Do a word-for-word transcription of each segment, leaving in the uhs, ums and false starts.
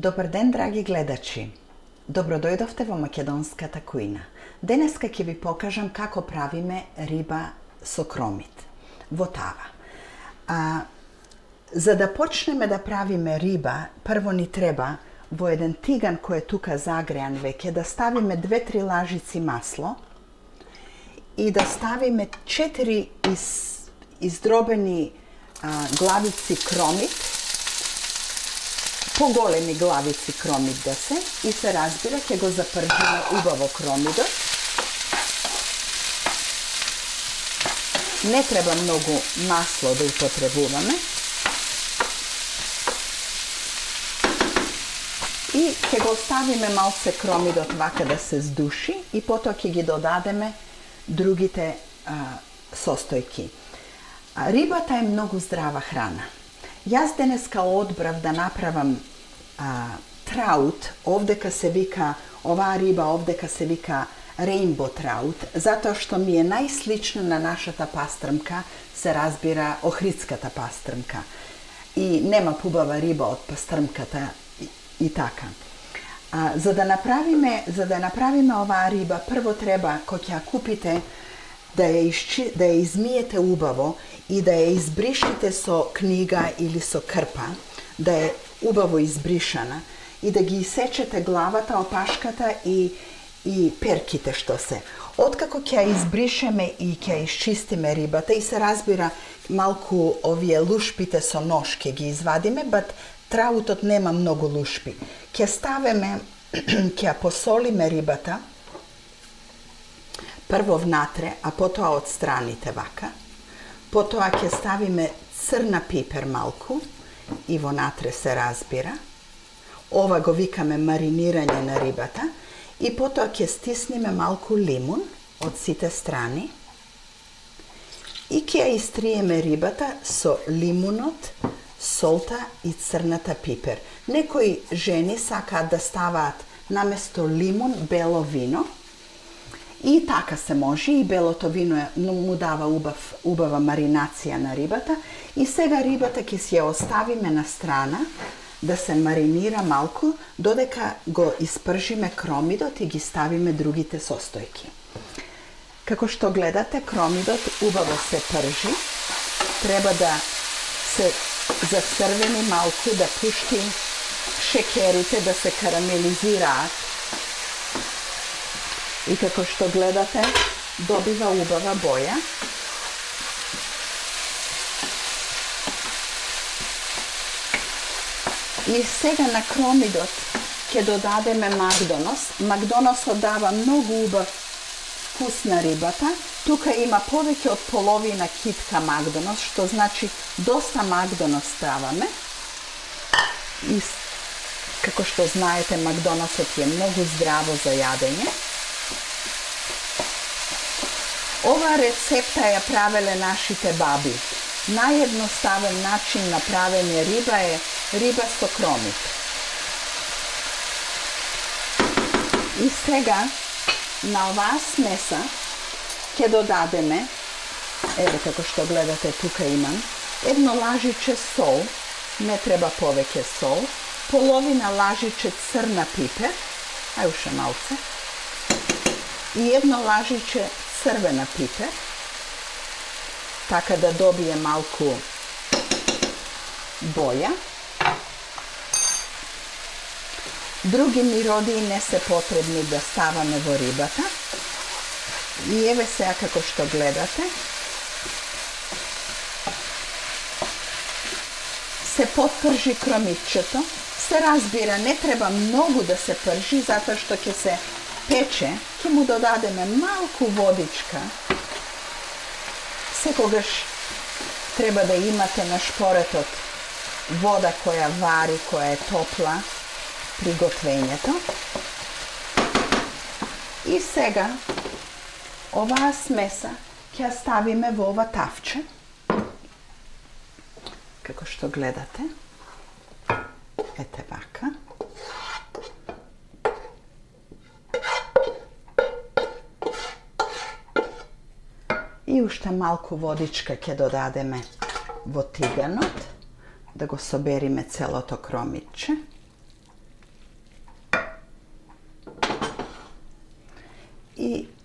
Добар ден, драги гледачи! Добродојдовте во македонската кујна. Денеска ќе ви покажам како правиме риба со кромит во тава. А, за да почнеме да правиме риба, прво ни треба во еден тиган кој е тука загреан веќе да ставиме две-три лажици масло и да ставиме четири из, издробени а, главици кромит, поголеми главици кромит да се, и се разбира, ќе го запржиме убаво кромидот. Не треба многу масло да употребуваме. И ќе го ставиме малце кромидот вака да се здуши и потоа ќе ги додадеме другите а, состојки. А, рибата е многу здрава храна. Јас денеска одбрав да направам а, траут, овдека се вика, оваа риба овдека се вика рейнбо траут, затоа што ми е најслична на нашата пастрмка, се разбира охридската пастрмка. И нема побава риба од пастрмката и, и така. А, за да направиме, за да направиме оваа риба, прво треба кога ќе ја купите да ја, исчи, да ја измиете убаво и да ја избришите со книга или со крпа, да е убаво избришана и да ги исечете главата, опашката и, и перките што се. Откако ќе ја избришеме и ќе ја исчистиме рибата и се разбира малку овие лушпите со нож ќе ги извадиме, бат траутот нема многу лушпи. Ќе ставиме, ќе ја посолиме рибата, прво внатре, а потоа од страните вака. Потоа ќе ставиме црна пипер малку и вонатре се разбира. Ова го викаме маринирање на рибата. И потоа ќе стисниме малку лимун од сите страни. И ќе ја истриеме рибата со лимунот, солта и црната пипер. Некои жени сакаат да ставаат наместо лимун бело вино. И така се може, и белото вино е, му дава убав, убава маринација на рибата. И сега рибата ќе си ја оставиме на страна да се маринира малку, додека го испржиме кромидот и ги ставиме другите состојки. Како што гледате, кромидот убаво се пржи. Треба да се зацрвени малку, да пушти шекерите, да се карамелизираат. И како што гледате, добива убава боја. И сега на кромидот ќе додадеме магдонос. Магдоносот дава многу убав вкус на рибата. Тука има повеќе од половина китка магдонос, што значи доста магдонос ставаме. И како што знаете, магдоносот е многу здраво за јадење. Ова рецепта ја правеле нашите баби. Наједноставен начин на правење риба е риба со кромит. И сега на оваа смеса ќе додадеме, еве како што гледате тука имам, едно лажиче сол, не треба повеќе сол, половина лажиче црна пипер, ај уште малце, и едно лажиче црвена пипер, така да добие малку боја. Други миродии не се потребни да ставаме во рибата. И еве сега како што гледате, се подпржи кромитчето. Се разбира, не треба многу да се пржи, затоа што ќе се пече, ќе му додадеме малку водичка. Секогаш треба да имате на шпоретот вода која вари, која е топла при готвењето. И сега оваа смеса ќе ја ставиме во ова тавче. Како што гледате. Ете вака. И уште малку водичка ќе додадеме во тиганот, да го собериме целото кромитче.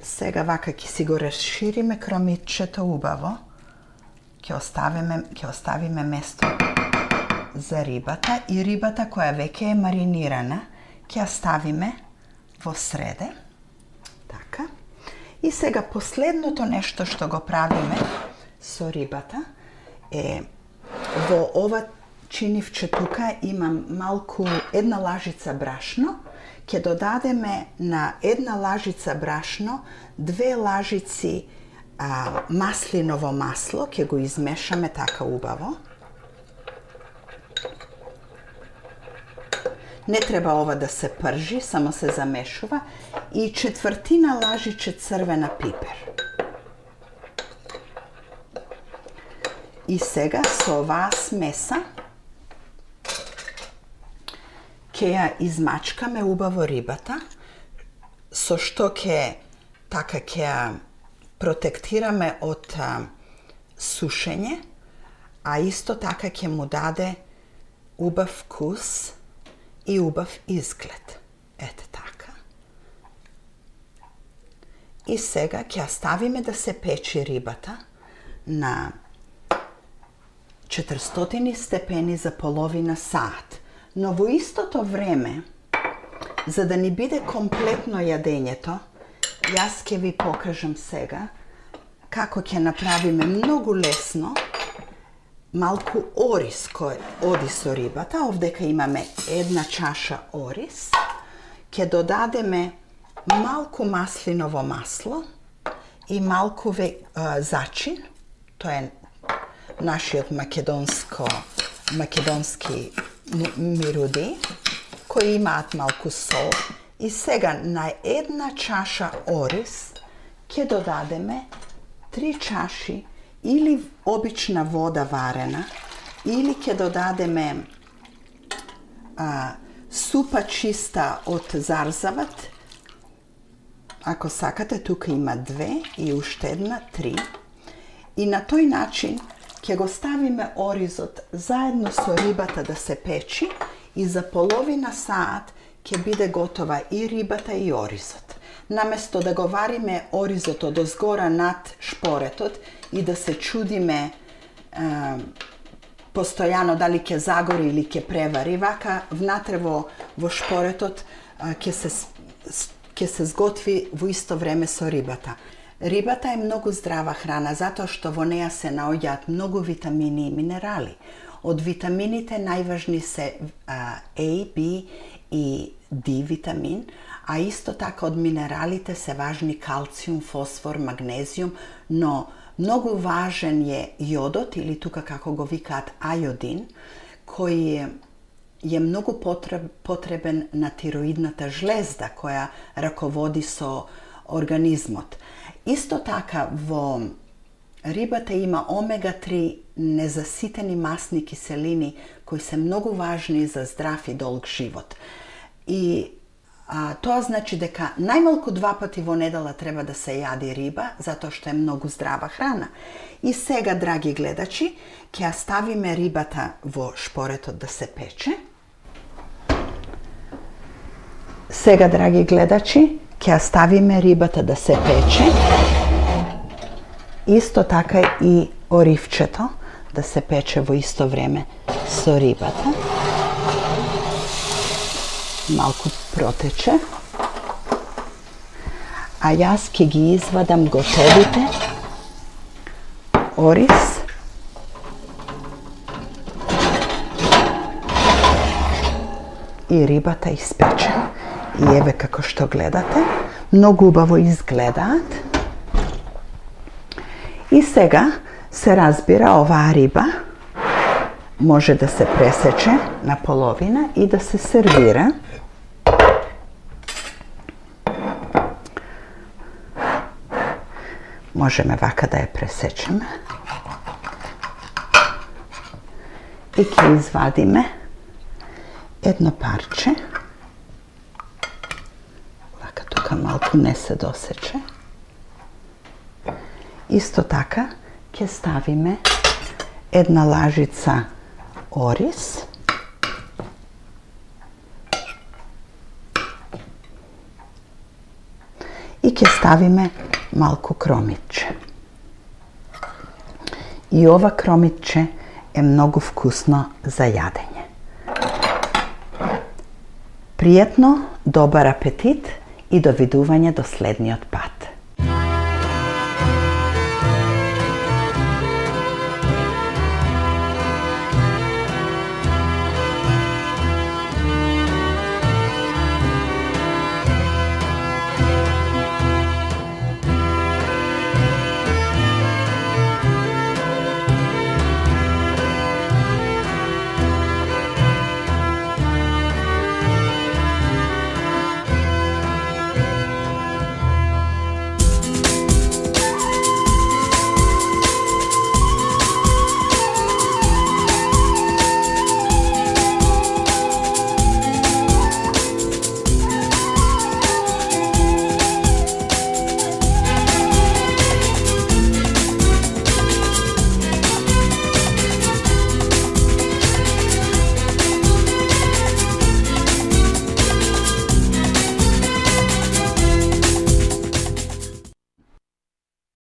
Сега вака ќе си го расшириме кромитчето убаво. Ќе оставиме, ќе оставиме место за рибата и рибата која веќе е маринирана ќе ја ставиме во среде. Така. И сега последното нешто што го правиме со рибата е во ова чинивче тука имам малку една лажица брашно. Ќе додадеме на една лажица брашно две лажици а, маслиново масло, ќе го измешаме така убаво. Не треба ова да се пржи, само се замешува. И четвртина лажиче црвена пипер. И сега со оваа смеса ќе ја измачкаме убаво рибата, со што ќе така ќе ја протектираме од а, сушење, а исто така ќе му даде убав вкус и убав изглед. Ете така. И сега ќе ја ставиме да се печи рибата на четиристотини степени за половина сат. Но во истото време, за да ни биде комплетно јадењето, јас ќе ви покажам сега како ќе направиме многу лесно малку ориз кој оди со рибата. Овдека имаме една чаша ориз. Ќе додадеме малку маслиново масло и малку ве, а, зачин. Тоа е нашиот македонско, македонски мируди, кои имаат малку сол. И сега на една чаша ориз ќе додадеме три чаши или обична вода варена, или ќе додадеме а, супа чиста од зарзават. Ако сакате, тука има две и уште една, три. И на тој начин ќе го ставиме оризот заедно со рибата да се печи и за половина саат ќе биде готова и рибата и оризот. Наместо да го вариме оризот од озгора над шпоретот и да се чудиме е, постојано дали ќе загори или ќе превари, вака внатре во, во шпоретот е, ќе се, ќе се сготви во исто време со рибата. Рибата е многу здрава храна, затоа што во неа се наоѓаат многу витамини и минерали. Од витамините најважни се а, A, B и D витамин, а исто така од минералите се важни калциум, фосфор, магнезиум, но многу важен е јодот, или тука како го викаат ајодин, кој е многу потреб, потребен на тироидната жлезда, која раководи со организмот. Исто така во рибата има омега три незаситени масни киселини кои се многу важни за здрав и долг живот. И а, тоа значи дека најмалку два пати во недела треба да се јади риба, затоа што е многу здрава храна. И сега, драги гледачи, ќе ја ставиме рибата во шпоретот да се пече. Сега, драги гледачи, ќе ја ставиме рибата да се пече. Исто така и оривчето да се пече во исто време со рибата. Малку протече. А јас ќе ги извадам готовите ориз. И рибата испечена. И еве како што гледате, многу убаво изгледаат. И сега се разбира оваа риба може да се пресече на половина и да се сервира. Можеме вака да ја пресечеме. И ќе извадиме едно парче. Вака тука малку не се досече. Исто така ќе ставиме една лажица ориз. И ќе ставиме ставиме малку кромиче. И ова кромиче е многу вкусно за јадење. Пријатно, добар апетит и довидување до следниот пат.